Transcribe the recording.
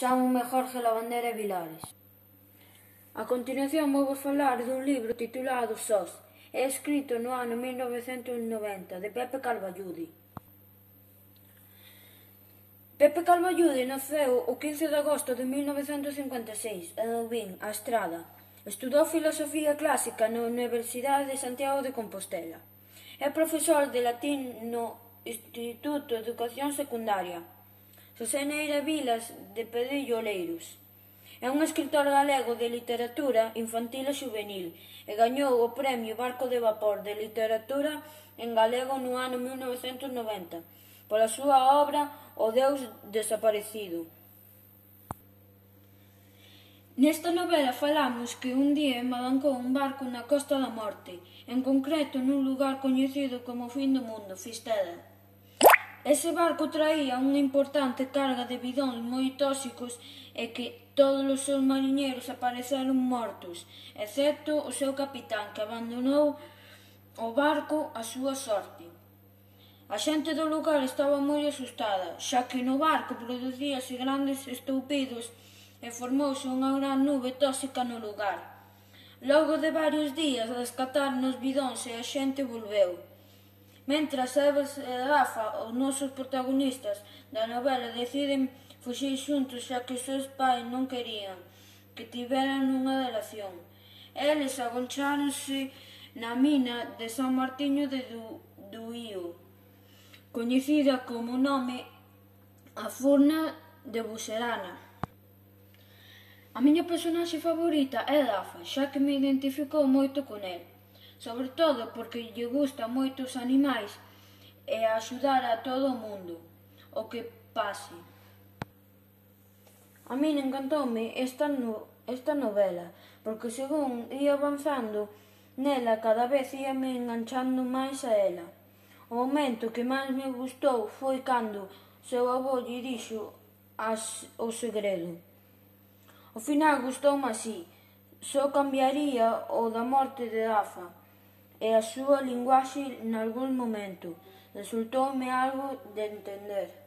Chámonme Jorge Labandera Vilares. A continuación vou falar dun libro titulado Sós, é escrito no ano 1990, de Pepe Carballude. Pepe Carballude naceu o 15 de agosto de 1956 en Albín, a Estrada. Estudou filosofía clásica na Universidade de Santiago de Compostela. É profesor de latín no Instituto de Educación Secundaria Xosé Neira Vilas de Pedrillo Oleiros. É un escritor galego de literatura infantil e juvenil e gañou o premio Barco de Vapor de Literatura en galego no ano 1990 pola súa obra O Deus Desaparecido. Nesta novela falamos que un día embalancou un barco na Costa da Morte, en concreto nun lugar coñecido como Fin do Mundo, Fistela. Ese barco traía unha importante carga de bidóns moi tóxicos e que todos os seus mariñeiros apareceron mortos, excepto o seu capitán, que abandonou o barco á súa sorte. A xente do lugar estaba moi asustada, xa que no barco producíase grandes estoupidos e formouse unha gran nube tóxica no lugar. Logo de varios días rescataron os bidóns e a xente volveu. Mentras Eva e Rafa, os nosos protagonistas da novela, deciden fuxir xuntos xa que os seus pais non querían que tiveran unha relación. Eles agoncháronse na mina de San Martiño de Duío, coñecida como nome a Furna de Buxerana. A miña personaxe favorita é Rafa, xa que me identificou moito con el, sobre todo porque lle gustan moito os animais e a axudar a todo o mundo, o que pase. A min encantoume esta novela, porque según ia avanzando nela cada vez íame enganchando máis a ela. O momento que máis me gustou foi cando seu avó lle dixo o segredo. O final gustoume así, só cambiaría o da morte de Rafa e a súa linguaxe nalgún momento. Resultoume algo de entender.